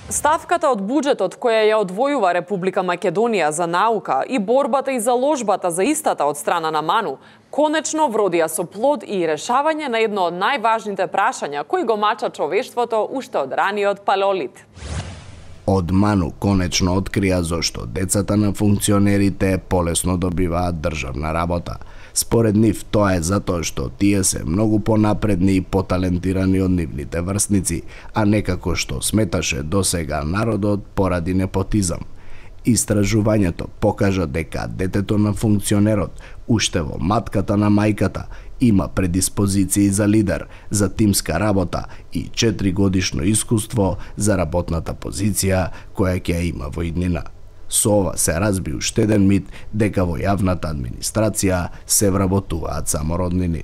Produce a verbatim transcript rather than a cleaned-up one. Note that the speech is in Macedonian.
Ставката од буџетот која ја одвојува Република Македонија за наука и борбата и заложбата за истата од страна на МАНУ конечно вродија со плод и решавање на едно од најважните прашања кои го мача човештвото уште од раниот палеолит. Од МАНУ конечно открија зошто децата на функционерите полесно добиваат државна работа. Според нив тоа е затоа што тие се многу понапредни и поталентирани од нивните врсници, а некако што сметаше досега народот поради непотизам. Истражувањето покажа дека детето на функционерот уште во матката на мајката има предиспозиции за лидер, за тимска работа и четири годишно искуство за работната позиција која ќе има во иднина. Со ова се разби уште еден мит дека во јавната администрација се вработуваат само роднини.